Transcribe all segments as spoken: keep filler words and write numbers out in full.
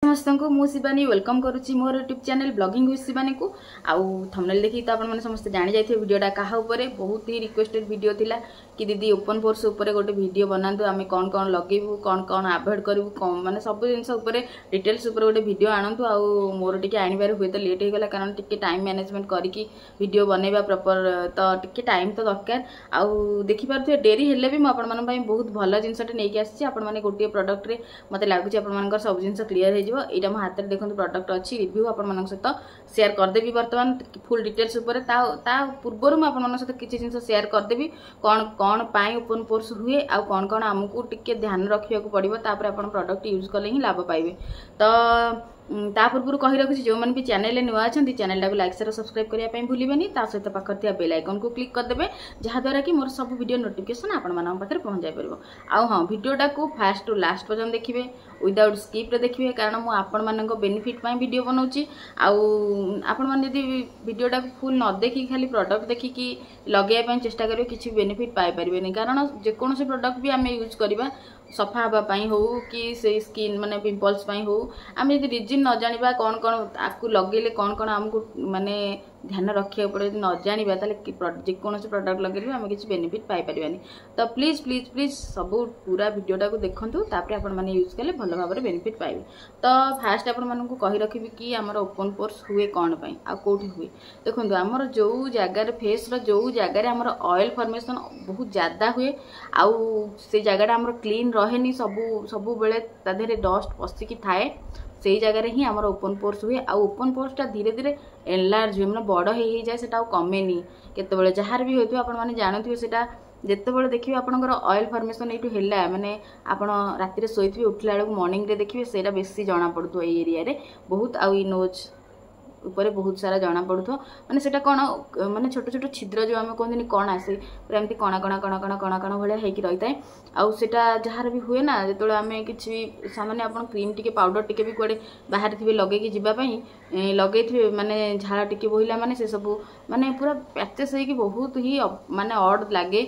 ସମସ୍ତଙ୍କୁ ମୁଁ ଶିବାନୀ welcome କରୁଛି ମୋର ୟୁଟ୍ୟୁବ୍ ଚ୍ୟାନେଲ୍ ବ୍ଲଗିଂ ୱିଥ୍ ଶିବାନୀକୁ। ଆଉ ଥମ୍ବନେଲ୍ ଦେଖିକି ତ ଆପଣମାନେ ସମସ୍ତେ ଜାଣିଯାଇଥିବେ ଭିଡ଼ିଓଟା କାହା ଉପରେ। ବହୁତ ହି ରିକ୍ୱେଷ୍ଟେଡ୍ ଭିଡ଼ିଓ ଥିଲା କି ଦିଦି, ଓପନ୍ ପୋର୍ସ ଉପରେ ଗୋଟେ ଭିଡ଼ିଓ ବନାନ୍ତୁ, ଆମେ କ'ଣ କ'ଣ ଲଗେଇବୁ, କ'ଣ କ'ଣ ଆଭଏଡ଼ କରିବୁ, କ'ଣ ମାନେ ସବୁ ଜିନିଷ ଉପରେ ଡିଟେଲ୍ସ ଉପରେ ଗୋଟେ ଭିଡ଼ିଓ ଆଣନ୍ତୁ। ଆଉ ମୋର ଟିକେ ଆଣିବାରେ ହୁଏତ ଲେଟ୍ ହେଇଗଲା, କାରଣ ଟିକେ ଟାଇମ୍ ମ୍ୟାନେଜମେଣ୍ଟ କରିକି ଭିଡ଼ିଓ ବନେଇବା ପ୍ରପର୍ ତ ଟିକେ ଟାଇମ୍ ତ ଦରକାର। ଆଉ ଦେଖିପାରୁଥିବେ, ଡେରି ହେଲେ ବି ମୁଁ ଆପଣମାନଙ୍କ ପାଇଁ ବହୁତ ଭଲ ଜିନିଷଟେ ନେଇକି ଆସିଛି। ଆପଣମାନେ ଗୋଟିଏ ପ୍ରଡ଼କ୍ଟରେ ମୋତେ ଲାଗୁଛି ଆପଣମାନଙ୍କର ସବୁ ଜିନିଷ କ୍ଲିୟର ହେଇଯିବ। ଏଇଟା ମୋ ହାତରେ ଦେଖନ୍ତୁ ପ୍ରଡ଼କ୍ଟ ଅଛି, ରିଭ୍ୟୁ ଆପଣମାନଙ୍କ ସହିତ ସେୟାର କରିଦେବି ବର୍ତ୍ତମାନ ଫୁଲ୍ ଡିଟେଲ୍ସ ଉପରେ। ତା ତା ପୂର୍ବରୁ ମୁଁ ଆପଣମାନଙ୍କ ସହିତ କିଛି ଜିନିଷ ସେୟାର କରିଦେବି, କ'ଣ କ'ଣ ପାଇଁ ଓପନ୍ ପୋର୍ସ ହୁଏ ଆଉ କ'ଣ କ'ଣ ଆମକୁ ଟିକେ ଧ୍ୟାନ ରଖିବାକୁ ପଡ଼ିବ, ତାପରେ ଆପଣ ପ୍ରଡ଼କ୍ଟ ୟୁଜ୍ କଲେ ହିଁ ଲାଭ ପାଇବେ। ତ ତା ପୂର୍ବରୁ କହି ରଖୁଛି, ଯେଉଁମାନେ ବି ଚ୍ୟାନେଲରେ ନୂଆ ଅଛନ୍ତି, ଚ୍ୟାନେଲଟାକୁ ଲାଇକ୍, ସେୟାର, ସବସ୍କ୍ରାଇବ୍ କରିବା ପାଇଁ ଭୁଲିବେନି। ତା ସହିତ ପାଖରେ ଥିବା ବେଲ୍ ଆଇକନ୍କୁ କ୍ଲିକ୍ କରିଦେବେ, ଯାହାଦ୍ୱାରା କି ମୋର ସବୁ ଭିଡ଼ିଓ ନୋଟିଫିକେସନ୍ ଆପଣମାନଙ୍କ ପାଖରେ ପହଞ୍ଚାଇ ପାରିବ। ଆଉ ହଁ, ଭିଡ଼ିଓଟାକୁ ଫାଷ୍ଟ ଟୁ ଲାଷ୍ଟ ପର୍ଯ୍ୟନ୍ତ ଦେଖିବେ, ୱିଦାଉଟ୍ ସ୍କିପ୍ରେ ଦେଖିବେ, କାରଣ ମୁଁ ଆପଣମାନଙ୍କ ବେନିଫିଟ୍ ପାଇଁ ଭିଡ଼ିଓ ବନାଉଛି। ଆଉ ଆପଣମାନେ ଯଦି ଭିଡ଼ିଓଟାକୁ ଫୁଲ୍ ନ ଦେଖିକି ଖାଲି ପ୍ରଡ଼କ୍ଟ ଦେଖିକି ଲଗାଇବା ପାଇଁ ଚେଷ୍ଟା କରିବେ, କିଛି ବେନିଫିଟ୍ ପାଇପାରିବେନି। କାରଣ ଯେକୌଣସି ପ୍ରଡ଼କ୍ଟ ବି ଆମେ ୟୁଜ୍ କରିବା, ସଫା ହେବା ପାଇଁ ହଉ କି ସେଇ ସ୍କିନ୍ ମାନେ ପିମ୍ପଲ୍ସ ପାଇଁ ହଉ, ଆମେ ଯଦି ରିଜିନ୍ ନ ଜାଣିବା, କ'ଣ କ'ଣ ଆକୁ ଲଗେଇଲେ କ'ଣ କ'ଣ ଆମକୁ ମାନେ ଧ୍ୟାନ ରଖିବାକୁ ପଡ଼ିବ, ଯଦି ନ ଜାଣିବା, ତାହେଲେ ଯେକୌଣସି ପ୍ରଡ଼କ୍ଟ ଲଗେଇଲେ ବି ଆମେ କିଛି ବେନିଫିଟ୍ ପାଇପାରିବାନି। ତ ପ୍ଲିଜ୍ ପ୍ଲିଜ୍ ପ୍ଲିଜ୍ ସବୁ ପୁରା ଭିଡ଼ିଓଟାକୁ ଦେଖନ୍ତୁ, ତାପରେ ଆପଣମାନେ ୟୁଜ୍ କଲେ ଭଲ ଭାବରେ ବେନିଫିଟ୍ ପାଇବେ। ତ ଫାଷ୍ଟ ଆପଣମାନଙ୍କୁ କହି ରଖିବି କି ଆମର ଓପନ୍ ପୋର୍ସ ହୁଏ କ'ଣ ପାଇଁ ଆଉ କେଉଁଠି ହୁଏ। ଦେଖନ୍ତୁ, ଆମର ଯେଉଁ ଜାଗାରେ ଫେସ୍ର ଯେଉଁ ଜାଗାରେ ଆମର ଅଏଲ୍ ଫର୍ମେସନ୍ ବହୁତ ଜାଦା ହୁଏ ଆଉ ସେ ଜାଗାଟା ଆମର କ୍ଲିନ୍ ରହେନି, ସବୁ ସବୁବେଳେ ତା ଦେହରେ ଡଷ୍ଟ ପଶିକି ଥାଏ, ସେଇ ଜାଗାରେ ହିଁ ଆମର ଓପନ୍ ପୋର୍ସ ହୁଏ। ଆଉ ଓପନ୍ ପୋର୍ସଟା ଧୀରେ ଧୀରେ ଏନଲାର୍ଜ ହୁଏ, ମାନେ ବଡ଼ ହେଇ ହେଇଯାଏ, ସେଟା ଆଉ କମେନି କେତେବେଳେ। ଯାହାର ବି ହୋଇଥିବ ଆପଣମାନେ ଜାଣୁଥିବେ, ସେଇଟା ଯେତେବେଳେ ଦେଖିବେ ଆପଣଙ୍କର ଅଏଲ୍ ଫର୍ମେସନ୍ ଏଇଠୁ ହେଲା, ମାନେ ଆପଣ ରାତିରେ ଶୋଇଥିବେ, ଉଠିଲା ବେଳକୁ ମର୍ଣ୍ଣିଂରେ ଦେଖିବେ ସେଇଟା ବେଶୀ ଜଣାପଡ଼ୁଥିବ ଏଇ ଏରିଆରେ ବହୁତ, ଆଉ ଏଇ ନୋଜ୍ ଉପରେ ବହୁତ ସାରା ଜଣାପଡ଼ୁଥିବ। ମାନେ ସେଇଟା କ'ଣ, ମାନେ ଛୋଟ ଛୋଟ ଛିଦ୍ର ଯେଉଁ ଆମେ କୁହନ୍ତିନି କଣା, ସେ ପୁରା ଏମିତି କଣା କଣା କଣା କଣା କଣା କଣା ଭଳିଆ ହେଇକି ରହିଥାଏ। ଆଉ ସେଇଟା ଯାହାର ବି ହୁଏ ନା, ଯେତେବେଳେ ଆମେ କିଛି ସାମାନ୍ୟ ଆପଣ କ୍ରିମ୍ ଟିକେ, ପାଉଡ଼ର ଟିକେ ବି କୁଆଡ଼େ ବାହାରେ ଥିବେ ଲଗେଇକି ଯିବା ପାଇଁ ଲଗେଇଥିବେ, ମାନେ ଝାଳ ଟିକେ ବୋହିଲା ମାନେ ସେସବୁ ମାନେ ପୁରା ପ୍ୟାଚେସ୍ ହେଇକି ବହୁତ ହି ମାନେ ଅଡ୍ ଲାଗେ।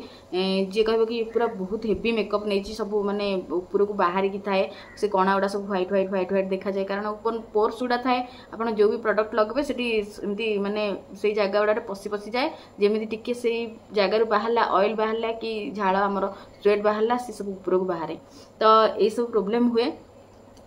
ଯିଏ କହିବ କି ପୁରା ବହୁତ ହେଭି ମେକଅପ୍ ନେଇଛି, ସବୁ ମାନେ ଉପରକୁ ବାହାରିକି ଥାଏ, ସେ କଣା ଗୁଡ଼ା ସବୁ ହ୍ୱାଇଟ୍ ହ୍ୱାଇଟ୍ ହ୍ୱାଇଟ୍ ହ୍ୱାଇଟ୍ ଦେଖାଯାଏ। କାରଣ ଓପନ୍ ପୋର୍ସ ଗୁଡ଼ା ଥାଏ, ଆପଣ ଯେଉଁ ବି ପ୍ରଡ଼କ୍ଟ ଲଗେଇବେ ସେଠି ଏମିତି ମାନେ ସେଇ ଜାଗା ଗୁଡ଼ାରେ ପଶି ପଶିଯାଏ। ଯେମିତି ଟିକେ ସେଇ ଜାଗାରୁ ବାହାରିଲା, ଅଏଲ୍ ବାହାରିଲା କି ଝାଳ ଆମର ସ୍ୱେଟ୍ ବାହାରିଲା, ସେ ସବୁ ଉପରକୁ ବାହାରେ। ତ ଏଇସବୁ ପ୍ରୋବ୍ଲେମ୍ ହୁଏ।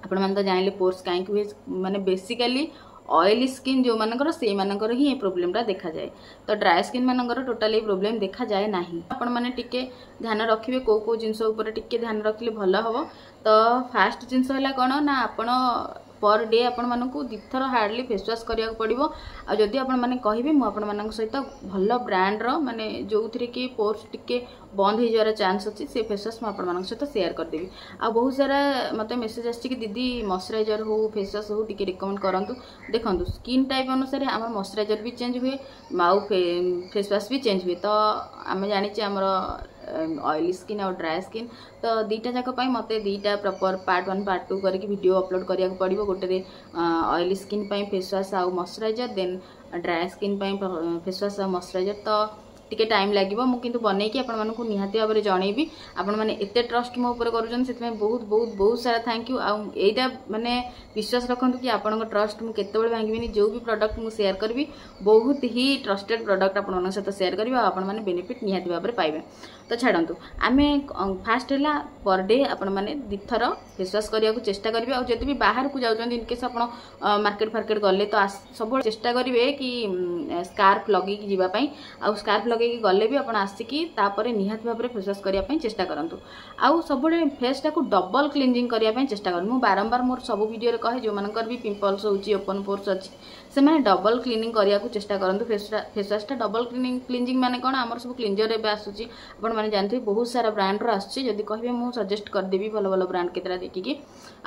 ଆପଣମାନେ ତ ଜାଣିଲେ ପୋର୍ସ କାହିଁକି ହୁଏ, ମାନେ ବେସିକାଲି ଅଏଲି ସ୍କିନ୍ ଯେଉଁମାନଙ୍କର, ସେଇମାନଙ୍କର ହିଁ ଏ ପ୍ରୋବ୍ଲେମଟା ଦେଖାଯାଏ। ତ ଡ୍ରାଏ ସ୍କିନ୍ ମାନଙ୍କର ଟୋଟାଲି ଏଇ ପ୍ରୋବ୍ଲେମ୍ ଦେଖାଯାଏ ନାହିଁ। ଆପଣମାନେ ଟିକେ ଧ୍ୟାନ ରଖିବେ, କେଉଁ କେଉଁ ଜିନିଷ ଉପରେ ଟିକେ ଧ୍ୟାନ ରଖିଲେ ଭଲ ହେବ। ତ ଫାଷ୍ଟ ଜିନିଷ ହେଲା କ'ଣ ନା, ଆପଣ ପର୍ ଡେ ଆପଣମାନଙ୍କୁ ଦୁଇଥର ହାର୍ଡ଼ଲି ଫେସ୍ ୱାଶ୍ କରିବାକୁ ପଡ଼ିବ। ଆଉ ଯଦି ଆପଣମାନେ କହିବେ, ମୁଁ ଆପଣମାନଙ୍କ ସହିତ ଭଲ ବ୍ରାଣ୍ଡର, ମାନେ ଯେଉଁଥିରେ କି ପୋର୍ସ ଟିକେ ବନ୍ଦ ହେଇଯିବାର ଚାନ୍ସ ଅଛି, ସେ ଫେସ୍ ୱାଶ୍ ମୁଁ ଆପଣମାନଙ୍କ ସହିତ ସେୟାର କରିଦେବି। ଆଉ ବହୁତ ସାରା ମୋତେ ମେସେଜ୍ ଆସିଛି କି ଦିଦି, ମଶ୍ଚରାଇଜର୍ ହଉ, ଫେସ୍ ୱାଶ୍ ହଉ, ଟିକେ ରିକମେଣ୍ଡ କରନ୍ତୁ। ଦେଖନ୍ତୁ, ସ୍କିନ୍ ଟାଇପ୍ ଅନୁସାରେ ଆମର ମଶ୍ଚରାଇଜର୍ ବି ଚେଞ୍ଜ ହୁଏ ଆଉ ଫେସ୍ ୱାଶ୍ ବି ଚେଞ୍ଜ ହୁଏ। ତ ଆମେ ଜାଣିଛେ ଆମର ଅଏଲି ସ୍କିନ୍ ଆଉ ଡ୍ରାଏ ସ୍କିନ୍, ତ ଦୁଇଟା ଯାକ ପାଇଁ ମୋତେ ଦୁଇଟା proper part one, part two କରିକି ଭିଡ଼ିଓ ଅପଲୋଡ଼ କରିବାକୁ ପଡ଼ିବ। ଗୋଟେରେ ଅଏଲି ସ୍କିନ୍ ପାଇଁ ଫେସ୍ ୱାଶ୍ ଆଉ ମଶ୍ଚରାଇଜର୍, ଦେନ୍ ଡ୍ରାଏ ସ୍କିନ୍ ପାଇଁ ଫେସ୍ ୱାଶ୍ ଆଉ ମଶ୍ଚରାଇଜର୍। ତ ଟିକେ ଟାଇମ୍ ଲାଗିବ, ମୁଁ କିନ୍ତୁ ବନେଇକି ଆପଣମାନଙ୍କୁ ନିହାତି ଭାବରେ ଜଣେଇବି। ଆପଣମାନେ ଏତେ ଟ୍ରଷ୍ଟ ମୋ ଉପରେ କରୁଛନ୍ତି, ସେଥିପାଇଁ ବହୁତ ବହୁତ ବହୁତ ସାରା thank you. ଆଉ ଏଇଟା ମାନେ ବିଶ୍ୱାସ ରଖନ୍ତୁ କି ଆପଣଙ୍କ ଟ୍ରଷ୍ଟ ମୁଁ କେତେବେଳେ ଭାଙ୍ଗିବିନି। ଯେଉଁ ବି ପ୍ରଡ଼କ୍ଟ ମୁଁ ସେୟାର କରିବି, ବହୁତ ହି ଟ୍ରଷ୍ଟେଡ୍ ପ୍ରଡ଼କ୍ଟ ଆପଣମାନଙ୍କ ସହିତ ସେୟାର କରିବି ଆଉ ଆପଣମାନେ ବେନିଫିଟ୍ ନିହାତି ଭାବରେ ପାଇବେ। ତ ଛାଡ଼ନ୍ତୁ, ଆମେ ଫାଷ୍ଟ ହେଲା ପର୍ ଡେ ଆପଣମାନେ ଦୁଇଥର ଫେସ୍ ୱାଶ୍ କରିବାକୁ ଚେଷ୍ଟା କରିବେ। ଆଉ ଯଦି ବି ବାହାରକୁ ଯାଉଛନ୍ତି, ଇନକେସ୍ ଆପଣ ମାର୍କେଟ ଫାର୍କେଟ ଗଲେ, ତ ସବୁବେଳେ ଚେଷ୍ଟା କରିବେ କି ସ୍କାର୍ଫ ଲଗେଇକି ଯିବା ପାଇଁ। ଆଉ ସ୍କାର୍ଫ ଲଗେଇକି ଗଲେ ବି ଆପଣ ଆସିକି ତାପରେ ନିହାତି ଭାବରେ ଫେସ୍ ୱାଶ୍ କରିବା ପାଇଁ ଚେଷ୍ଟା କରନ୍ତୁ। ଆଉ ସବୁବେଳେ ଫେସ୍ଟାକୁ ଡବଲ୍ କ୍ଲିନଜିଂ କରିବା ପାଇଁ ଚେଷ୍ଟା କରନ୍ତୁ। ମୁଁ ବାରମ୍ବାର ମୋର ସବୁ ଭିଡ଼ିଓରେ କହେ, ଯେଉଁମାନଙ୍କର ବି ପିମ୍ପଲ୍ସ ହେଉଛି, ଓପନ୍ ପୋର୍ସ ଅଛି, ସେମାନେ ଡବଲ୍ କ୍ଲିନିଂ କରିବାକୁ ଚେଷ୍ଟା କରନ୍ତୁ ଫେସ୍ ଫେସ୍ ୱାଶ୍ଟା। ଡବଲ୍ କ୍ଲିନିଂ କ୍ଲିନଜିଂ ମାନେ କ'ଣ? ଆମର ସବୁ କ୍ଲିନଜର ଏବେ ଆସୁଛି, ଆପଣମାନେ ଜାଣିଥିବେ, ବହୁତ ସାରା ବ୍ରାଣ୍ଡର ଆସୁଛି। ଯଦି କହିବେ, ମୁଁ ସଜେଷ୍ଟ କରିଦେବି ଭଲ ଭଲ ବ୍ରାଣ୍ଡ କେତେଟା ଦେଖିକି।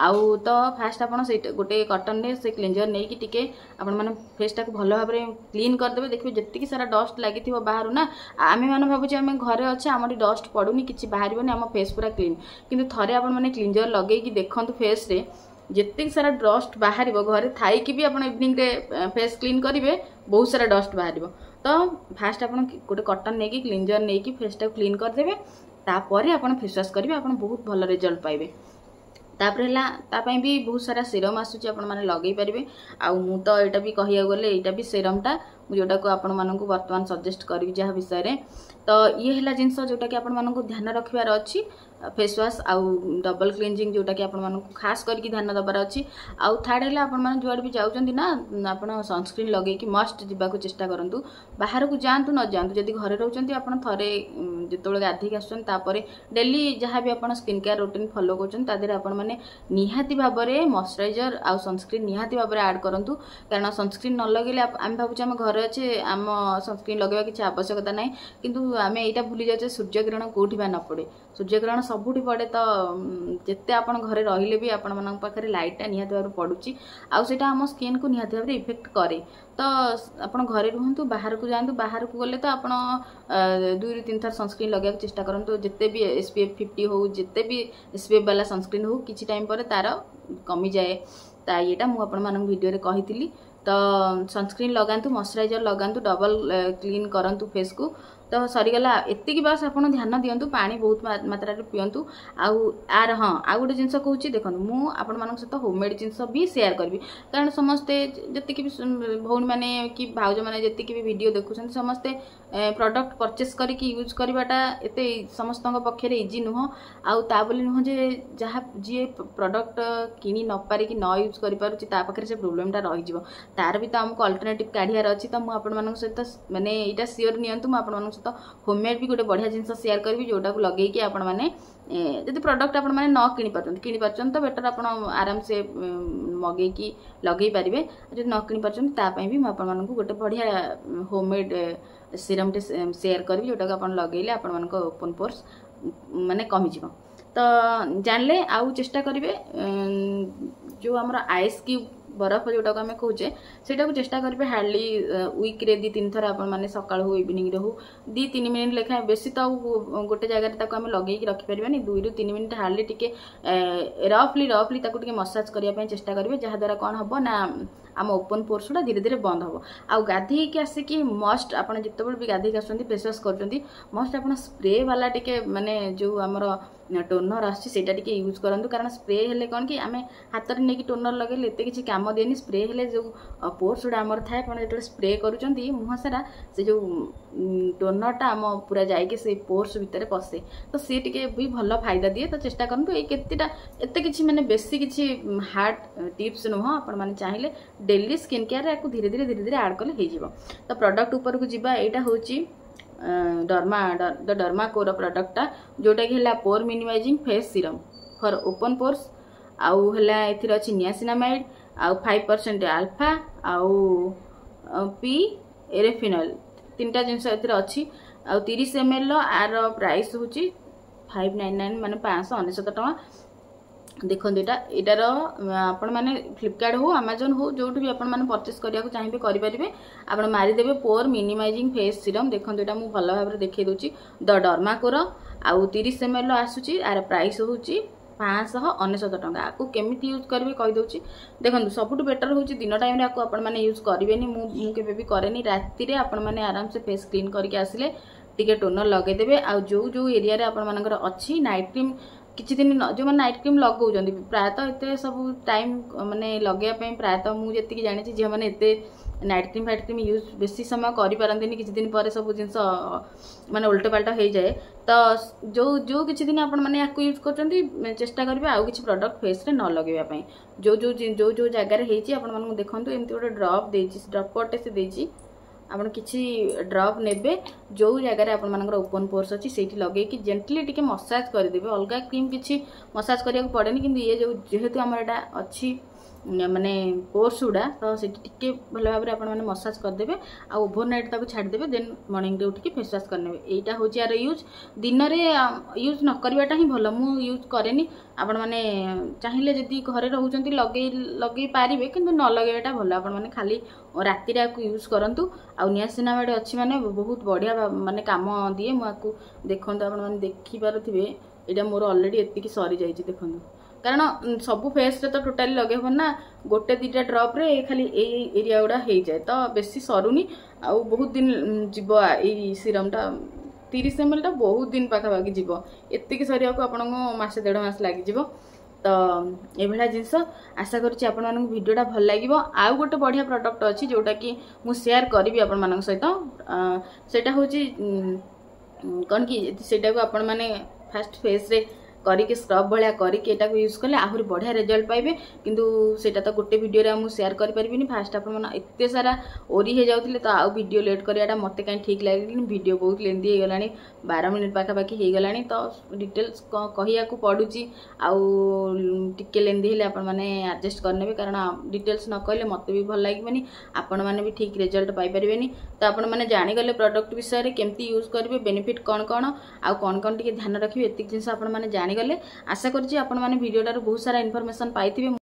ଆଉ ତ ଫାଷ୍ଟ ଆପଣ ସେଇଟା ଗୋଟେ କଟନରେ ସେ କ୍ଲିନଜର ନେଇକି ଟିକେ ଆପଣମାନେ ଫେସ୍ଟାକୁ ଭଲ ଭାବରେ କ୍ଲିନ୍ କରିଦେବେ। ଦେଖିବେ ଯେତିକି ସାରା ଡଷ୍ଟ ଲାଗିଥିବ ବାହାରୁ ନା, ଆମେମାନେ ଭାବୁଛେ ଆମେ ଘରେ ଅଛେ, ଆମଠି ଡଷ୍ଟ ପଡ଼ୁନି, କିଛି ବାହାରିବନି, ଆମ ଫେସ୍ ପୁରା କ୍ଲିନ୍। କିନ୍ତୁ ଥରେ ଆପଣମାନେ କ୍ଲିନଜର ଲଗେଇକି ଦେଖନ୍ତୁ ଫେସ୍ରେ, ଯେତିକି ସାରା ଡଷ୍ଟ ବାହାରିବ, ଘରେ ଥାଇକି ବି ଆପଣ ଇଭିନିଂରେ ଫେସ୍ କ୍ଲିନ୍ କରିବେ, ବହୁତ ସାରା ଡଷ୍ଟ ବାହାରିବ। ତ ଫାଷ୍ଟ ଆପଣ ଗୋଟେ କଟନ୍ ନେଇକି, କ୍ଲିନଜର ନେଇକି ଫେସ୍ଟାକୁ କ୍ଲିନ୍ କରିଦେବେ, ତାପରେ ଆପଣ ଫେସ୍ ୱାଶ୍ କରିବେ, ଆପଣ ବହୁତ ଭଲ ରେଜଲ୍ଟ ପାଇବେ। ତାପରେ ହେଲା ତା ପାଇଁ ବି ବହୁତ ସାରା ସିରମ୍ ଆସୁଛି ଆପଣମାନେ ଲଗେଇ ପାରିବେ ଆଉ ମୁଁ ତ ଏଇଟା ବି କହିବାକୁ ଗଲେ ଏଇଟା ବି ସିରମ୍ଟା ମୁଁ ଯେଉଁଟାକୁ ଆପଣମାନଙ୍କୁ ବର୍ତ୍ତମାନ ସଜେଷ୍ଟ କରିବି ଯାହା ବିଷୟରେ ତ ଇଏ ହେଲା ଜିନିଷ ଯେଉଁଟାକି ଆପଣମାନଙ୍କୁ ଧ୍ୟାନ ରଖିବାର ଅଛି ଫେସ୍ ୱାଶ୍ ଆଉ ଡବଲ୍ କ୍ଲିନଜିଂ ଯେଉଁଟାକି ଆପଣମାନଙ୍କୁ ଖାସ୍ କରିକି ଧ୍ୟାନ ଦେବାର ଅଛି ଆଉ ଥାର୍ଡ଼ ହେଲା ଆପଣମାନେ ଯୁଆଡ଼େ ବି ଯାଉଛନ୍ତି ନା ଆପଣ ସନସ୍କ୍ରିନ୍ ଲଗେଇକି ମଷ୍ଟ ଯିବାକୁ ଚେଷ୍ଟା କରନ୍ତୁ ବାହାରକୁ ଯାଆନ୍ତୁ ନ ଯାଆନ୍ତୁ ଯଦି ଘରେ ରହୁଛନ୍ତି ଆପଣ ଥରେ ଯେତେବେଳେ ଗାଧେଇକି ଆସୁଛନ୍ତି ତାପରେ ଡେଲି ଯାହା ବି ଆପଣ ସ୍କିନ୍ କେୟାର ରୁଟିନ୍ ଫଲୋ କରୁଛନ୍ତି ତା ଦେହରେ ଆପଣମାନେ ନିହାତି ଭାବରେ ମଶ୍ଚରାଇଜର ଆଉ ସନସ୍କ୍ରିନ୍ ନିହାତି ଭାବରେ ଆଡ଼୍ କରନ୍ତୁ କାରଣ ସନସ୍କ୍ରିନ୍ ନ ଲଗେଇଲେ ଆମେ ଭାବୁଛେ ଆମେ ଘରେ ଅଛେ ଆମ ସନସ୍କ୍ରିନ୍ ଲଗେଇବା କିଛି ଆବଶ୍ୟକତା ନାହିଁ କିନ୍ତୁ ଆମେ ଏଇଟା ଭୁଲି ଯାଉଛେ ସୂର୍ଯ୍ୟକିରଣ କେଉଁଠି ବା ନ ପଡ଼େ ସୂର୍ଯ୍ୟକିରଣ ସବୁଠି ପଡ଼େ ତ ଯେତେ ଆପଣ ଘରେ ରହିଲେ ବି ଆପଣମାନଙ୍କ ପାଖରେ ଲାଇଟ୍ଟା ନିହାତି ଭାବରେ ପଡ଼ୁଛି ଆଉ ସେଇଟା ଆମ ସ୍କିନ୍କୁ ନିହାତି ଭାବରେ ଇଫେକ୍ଟ କରେ ତ ଆପଣ ଘରେ ରୁହନ୍ତୁ ବାହାରକୁ ଯାଆନ୍ତୁ ବାହାରକୁ ଗଲେ ତ ଆପଣ ଦୁଇରୁ ତିନି ଥର ସନସ୍କ୍ରିନ୍ ଲଗେଇବାକୁ ଚେଷ୍ଟା କରନ୍ତୁ ଯେତେ B S P F fifty ହଉ ଯେତେ ବି ଏସ୍ ପି ଏଫ୍ ବାଲା ସନସ୍କ୍ରିନ୍ ହଉ କିଛି ଟାଇମ୍ ପରେ ତାର କମିଯାଏ ତା ଇଏଟା ମୁଁ ଆପଣମାନଙ୍କୁ ଭିଡ଼ିଓରେ କହିଥିଲି ତ ସନସ୍କ୍ରିନ୍ ଲଗାନ୍ତୁ ମଶ୍ଚରାଇଜର ଲଗାନ୍ତୁ ଡବଲ୍ କ୍ଲିନ୍ କରନ୍ତୁ ଫେସ୍କୁ ତ ସରିଗଲା ଏତିକି ବାସ୍ ଆପଣ ଧ୍ୟାନ ଦିଅନ୍ତୁ ପାଣି ବହୁତ ମାତ୍ରାରେ ପିଅନ୍ତୁ ଆଉ ଆର ହଁ ଆଉ ଗୋଟେ ଜିନିଷ କହୁଛି ଦେଖନ୍ତୁ ମୁଁ ଆପଣମାନଙ୍କ ସହିତ ହୋମମେଡ୍ ଜିନିଷ ବି ସେୟାର କରିବି କାରଣ ସମସ୍ତେ ଯେତିକି ବି ଭଉଣୀମାନେ କି ଭାଉଜମାନେ ଯେତିକି ବି ଭିଡ଼ିଓ ଦେଖୁଛନ୍ତି ସମସ୍ତେ ପ୍ରଡ଼କ୍ଟ ପରଚେସ୍ କରିକି ୟୁଜ୍ କରିବାଟା ଏତେ ସମସ୍ତଙ୍କ ପକ୍ଷରେ ଇଜି ନୁହଁ ଆଉ ତା ବୋଲି ନୁହଁ ଯେ ଯାହା ଯିଏ ପ୍ରଡ଼କ୍ଟ କିଣି ନ ପାରିକି ନ ୟୁଜ୍ କରିପାରୁଛି ତା ପାଖରେ ସେ ପ୍ରୋବ୍ଲେମଟା ରହିଯିବ ତାର ବି ତ ଆମକୁ ଅଲ୍ଟରନେଟିଭ୍ କାଢ଼ିବାର ଅଛି ତ ମୁଁ ଆପଣମାନଙ୍କ ସହିତ ମାନେ ଏଇଟା ସିଓର ନିଅନ୍ତୁ ମୁଁ ଆପଣମାନଙ୍କ ସହିତ ହୋମମେଡ୍ ବି ଗୋଟେ ବଢ଼ିଆ ଜିନିଷ ସେୟାର କରିବି ଯେଉଁଟାକୁ ଲଗେଇକି ଆପଣମାନେ ଯଦି ପ୍ରଡ଼କ୍ଟ ଆପଣମାନେ ନ କିଣିପାରୁଛନ୍ତି କିଣିପାରୁଛନ୍ତି ତ ବେଟର୍ ଆପଣ ଆରାମସେ ମଗେଇକି ଲଗେଇ ପାରିବେ ଯଦି ନ କିଣିପାରୁଛନ୍ତି ତା ପାଇଁ ବି ମୁଁ ଆପଣମାନଙ୍କୁ ଗୋଟେ ବଢ଼ିଆ ହୋମମେଡ୍ ସିରମ୍ଟେ ସେୟାର କରିବି ଯେଉଁଟାକୁ ଆପଣ ଲଗେଇଲେ ଆପଣମାନଙ୍କ ଓପନ୍ ପୋର୍ସ ମାନେ କମିଯିବ ତ ଜାଣିଲେ ଆଉ ଚେଷ୍ଟା କରିବେ ଯେଉଁ ଆମର ଆଇସ୍ କ୍ୟୁବ୍ ବରଫ ଯେଉଁଟାକୁ ଆମେ କହୁଛେ ସେଇଟାକୁ ଚେଷ୍ଟା କରିବେ ହାର୍ଡ଼ଲି ୱିକ୍ରେ ଦୁଇ ତିନି ଥର ଆପଣମାନେ ସକାଳୁ ହଉ ଇଭିନିଂରେ ହଉ ଦୁଇ ତିନି ମିନିଟ୍ ଲେଖାଏଁ ବେଶୀ ତ ଆଉ ଗୋଟେ ଜାଗାରେ ତାକୁ ଆମେ ଲଗେଇକି ରଖିପାରିବାନି ଦୁଇରୁ ତିନି ମିନିଟ୍ ହାର୍ଡ଼ଲି ଟିକେ ରଫଲି ରଫଲି ତାକୁ ଟିକେ ମସାଜ କରିବା ପାଇଁ ଚେଷ୍ଟା କରିବେ ଯାହାଦ୍ୱାରା କ'ଣ ହେବ ନା ଆମ ଓପନ୍ ପୋର୍ସ ଗୁଡ଼ା ଧୀରେ ଧୀରେ ବନ୍ଦ ହେବ ଆଉ ଗାଧେଇକି ଆସିକି ମଷ୍ଟ ଆପଣ ଯେତେବେଳେ ବି ଗାଧେଇକି ଆସୁଛନ୍ତି ଫେସ୍ ୱାଶ୍ କରୁଛନ୍ତି ମଷ୍ଟ ଆପଣ ସ୍ପ୍ରେ ବାଲା ଟିକେ ମାନେ ଯେଉଁ ଆମର ଟୋନର୍ ଆସୁଛି ସେଇଟା ଟିକେ ୟୁଜ୍ କରନ୍ତୁ କାରଣ ସ୍ପ୍ରେ ହେଲେ କ'ଣ କି ଆମେ ହାତରେ ନେଇକି ଟୋନର୍ ଲଗେଇଲେ ଏତେ କିଛି କାମ ଦିଏନି ସ୍ପ୍ରେ ହେଲେ ଯେଉଁ ପୋର୍ସ ଗୁଡ଼ା ଆମର ଥାଏ ଆପଣ ଯେତେବେଳେ ସ୍ପ୍ରେ କରୁଛନ୍ତି ମୁହଁ ସାରା ସେ ଯେଉଁ ଟୋନର୍ଟା ଆମ ପୁରା ଯାଇକି ସେଇ ପୋର୍ସ ଭିତରେ ପଶେ ତ ସିଏ ଟିକେ ବି ଭଲ ଫାଇଦା ଦିଏ ତ ଚେଷ୍ଟା କରନ୍ତୁ ଏଇ କେତେଟା ଏତେ କିଛି ମାନେ ବେଶୀ କିଛି ହାର୍ଡ଼ ଟିପ୍ସ ନୁହଁ ଆପଣମାନେ ଚାହିଁଲେ ଡେଲି ସ୍କିନ୍ କେୟାରରେ ୟାକୁ ଧୀରେ ଧୀରେ ଧୀରେ ଧୀରେ ଆଡ଼୍ କଲେ ହେଇଯିବ ତ ପ୍ରଡ଼କ୍ଟ ଉପରକୁ ଯିବା ଏଇଟା ହେଉଛି ଡର୍ମା ଦ ଡର୍ମା କୋର ପ୍ରଡ଼କ୍ଟଟା ଯେଉଁଟାକି ହେଲା pore minimizing face serum for open pores ଆଉ ହେଲା ଏଥିରେ ଅଛି ନିଆସିନାମାଇଡ୍ ଆଉ ଫାଇଭ୍ ପରସେଣ୍ଟ ଆଲଫା ଆଉ ପି ରେଟିନଲ୍ ତିନିଟା ଜିନିଷ ଏଥିରେ ଅଛି ଆଉ ତିରିଶ ଏମ୍ ଏଲ୍ର ଆର ପ୍ରାଇସ୍ ହେଉଛି ଫାଇଭ୍ ନାଇନ୍ ନାଇନ୍ ମାନେ ପାଞ୍ଚଶହ ଅନେଶତ ଟଙ୍କା ଦେଖନ୍ତୁ ଏଇଟା ଏଇଟାର ଆପଣମାନେ ଫ୍ଲିପକାର୍ଟ ହଉ ଆମାଜନ୍ ହଉ ଯେଉଁଠି ବି ଆପଣମାନେ ପରଚେସ୍ କରିବାକୁ ଚାହିଁବେ କରିପାରିବେ ଆପଣ ମାରିଦେବେ ପୋର୍ ମିନିମାଇଜିଂ ଫେସ୍ ସିରମ୍ ଦେଖନ୍ତୁ ଏଇଟା ମୁଁ ଭଲ ଭାବରେ ଦେଖେଇ ଦେଉଛି ଦ ଡର୍ମାକୋର ଆଉ ତିରିଶ ଏମ୍ ଏଲ୍ର ଆସୁଛି ଆର ପ୍ରାଇସ୍ ହେଉଛି ପାଞ୍ଚଶହ ଅନେଶତ ଟଙ୍କା ଆକୁ କେମିତି ୟୁଜ୍ କରିବେ କହିଦେଉଛି ଦେଖନ୍ତୁ ସବୁଠୁ ବେଟର୍ ହେଉଛି ଦିନ ଟାଇମ୍ରେ ଆକୁ ଆପଣମାନେ ୟୁଜ୍ କରିବେନି ମୁଁ ମୁଁ କେବେ ବି କରେନି ରାତିରେ ଆପଣମାନେ ଆରାମସେ ଫେସ୍ କ୍ଲିନ୍ କରିକି ଆସିଲେ ଟିକେ ଟୋନର୍ ଲଗେଇଦେବେ ଆଉ ଯେଉଁ ଯେଉଁ ଏରିଆରେ ଆପଣମାନଙ୍କର ଅଛି ନାଇଟ୍ କ୍ରିମ୍ କିଛି ଦିନ ଯେଉଁମାନେ ନାଇଟ୍ କ୍ରିମ୍ ଲଗାଉଛନ୍ତି ପ୍ରାୟତଃ ଏତେ ସବୁ ଟାଇମ୍ ମାନେ ଲଗେଇବା ପାଇଁ ପ୍ରାୟତଃ ମୁଁ ଯେତିକି ଜାଣିଛି ଝିଅମାନେ ଏତେ night cream fight cream use ବେଶୀ ସମୟ କରିପାରନ୍ତିନି କିଛି ଦିନ ପରେ ସବୁ ଜିନିଷ ମାନେ ଓଲଟ ପାଲଟ ହେଇଯାଏ ତ ଯେଉଁ ଯେଉଁ କିଛି ଦିନ ଆପଣମାନେ ୟାକୁ ୟୁଜ୍ କରୁଛନ୍ତି ଚେଷ୍ଟା କରିବେ ଆଉ କିଛି ପ୍ରଡ଼କ୍ଟ ଫେସ୍ରେ ନ ଲଗେଇବା ପାଇଁ ଯେଉଁ ଯେଉଁ ଯେଉଁ ଯେଉଁ ଜାଗାରେ ହେଇଛି ଆପଣମାନଙ୍କୁ ଦେଖନ୍ତୁ ଏମିତି ଗୋଟେ ଡ୍ରପ୍ ଦେଇଛି ଡ୍ରପର୍ଟେ ସେ ଦେଇଛି ଆପଣ କିଛି ଡ୍ରପ୍ ନେବେ ଯେଉଁ ଜାଗାରେ ଆପଣମାନଙ୍କର ଓପନ୍ ପୋର୍ସ ଅଛି ସେଇଠି ଲଗେଇକି ଜେଣ୍ଟଲି ଟିକେ ମସାଜ କରିଦେବେ ଅଲଗା କ୍ରିମ୍ କିଛି ମସାଜ କରିବାକୁ ପଡ଼େନି କିନ୍ତୁ ଇଏ ଯେଉଁ ଯେହେତୁ ଆମର ଏଇଟା ଅଛି ମାନେ ପୋର୍ସ ଗୁଡ଼ା ତ ସେଠି ଟିକେ ଭଲ ଭାବରେ ଆପଣମାନେ ମସାଜ କରିଦେବେ ଆଉ ଓଭର ନାଇଟ୍ ତାକୁ ଛାଡ଼ିଦେବେ ଦେନ୍ ମର୍ଣ୍ଣିଂରେ ଉଠିକି ଫେସ୍ ୱାଶ୍ କରିନେବେ ଏଇଟା ହେଉଛି ଆର ୟୁଜ୍ ଦିନରେ ୟୁଜ୍ ନ କରିବାଟା ହିଁ ଭଲ ମୁଁ ୟୁଜ୍ କରେନି ଆପଣମାନେ ଚାହିଁଲେ ଯଦି ଘରେ ରହୁଛନ୍ତି ଲଗେଇ ଲଗେଇ ପାରିବେ କିନ୍ତୁ ନ ଲଗେଇବାଟା ଭଲ ଆପଣମାନେ ଖାଲି ରାତିରେ ଆକୁ ୟୁଜ୍ କରନ୍ତୁ ଆଉ ନିଆସିନାମାଇଡ୍ ଅଛି ମାନେ ବହୁତ ବଢ଼ିଆ ମାନେ କାମ ଦିଏ ମୁଁ ଆକୁ ଦେଖନ୍ତୁ ଆପଣମାନେ ଦେଖିପାରୁଥିବେ ଏଇଟା ମୋର ଅଲରେଡ଼ି ଏତିକି ସରିଯାଇଛି ଦେଖନ୍ତୁ କାରଣ ସବୁ ଫେସ୍ରେ ତ ଟୋଟାଲି ଲଗେଇ ହେବନି ନା ଗୋଟେ ଦୁଇଟା ଡ୍ରପ୍ରେ ଖାଲି ଏଇ ଏରିଆ ଗୁଡ଼ା ହେଇଯାଏ ତ ବେଶୀ ସରୁନି ଆଉ ବହୁତ ଦିନ ଯିବ ଏଇ ସିରମ୍ଟା ତିରିଶ ଏମ୍ ଏଲ୍ଟା ବହୁତ ଦିନ ପାଖାପାଖି ଯିବ ଏତିକି ସରିବାକୁ ଆପଣଙ୍କୁ ମାସେ ଦେଢ଼ ମାସ ଲାଗିଯିବ ତ ତ ଏଇଭଳିଆ ଜିନିଷ ଆଶା କରୁଛି ଆପଣମାନଙ୍କୁ ଭିଡ଼ିଓଟା ଭଲ ଲାଗିବ ଆଉ ଗୋଟେ ବଢ଼ିଆ ପ୍ରଡ଼କ୍ଟ ଅଛି ଯେଉଁଟାକି ମୁଁ ସେୟାର କରିବି ଆପଣମାନଙ୍କ ସହିତ ସେଇଟା ହେଉଛି କ'ଣ କି ସେଇଟାକୁ ଆପଣମାନେ ଫାଷ୍ଟ ଫେସ୍ରେ କରିକି ସ୍କ୍ରବ୍ ଭଳିଆ କରିକି ଏଟାକୁ ୟୁଜ୍ କଲେ ଆହୁରି ବଢ଼ିଆ ରେଜଲ୍ଟ ପାଇବେ କିନ୍ତୁ ସେଇଟା ତ ଗୋଟେ ଭିଡ଼ିଓରେ ଆଉ ମୁଁ ସେୟାର କରିପାରିବିନି ଫାଷ୍ଟ ଆପଣମାନେ ଏତେ ସାରା ଓରି ହେଇଯାଉଥିଲେ ତ ଆଉ ଭିଡ଼ିଓ ଲେଟ୍ କରିବାଟା ମୋତେ କାହିଁ ଠିକ୍ ଲାଗିଲାନି ଭିଡ଼ିଓ ବହୁତ ଲେନ୍ଥି ହେଇଗଲାଣି ବାର ମିନିଟ୍ ପାଖାପାଖି ହେଇଗଲାଣି ତ ଡିଟେଲ୍ସ କହିବାକୁ ପଡ଼ୁଛି ଆଉ ଟିକେ ଲେନ୍ଥି ହେଲେ ଆପଣମାନେ ଆଡ଼ଜଷ୍ଟ କରିନେବେ କାରଣ ଡିଟେଲ୍ସ ନ କହିଲେ ମୋତେ ବି ଭଲ ଲାଗିବନି ଆପଣମାନେ ବି ଠିକ୍ ରେଜଲ୍ଟ ପାଇପାରିବେନି ତ ଆପଣମାନେ ଜାଣିଗଲେ ପ୍ରଡ଼କ୍ଟ ବିଷୟରେ କେମିତି ୟୁଜ୍ କରିବେ ବେନିଫିଟ୍ କ'ଣ କ'ଣ ଆଉ କ'ଣ କ'ଣ ଟିକେ ଧ୍ୟାନ ରଖିବେ ଏତିକି ଜିନିଷ ଆପଣମାନେ ଜାଣିଗଲେ ଆଶା କରୁଛି ଆପଣମାନେ ଭିଡ଼ିଓଟାରୁ ବହୁତ ସାରା ଇନଫର୍ମେସନ୍ ପାଇଥିବେ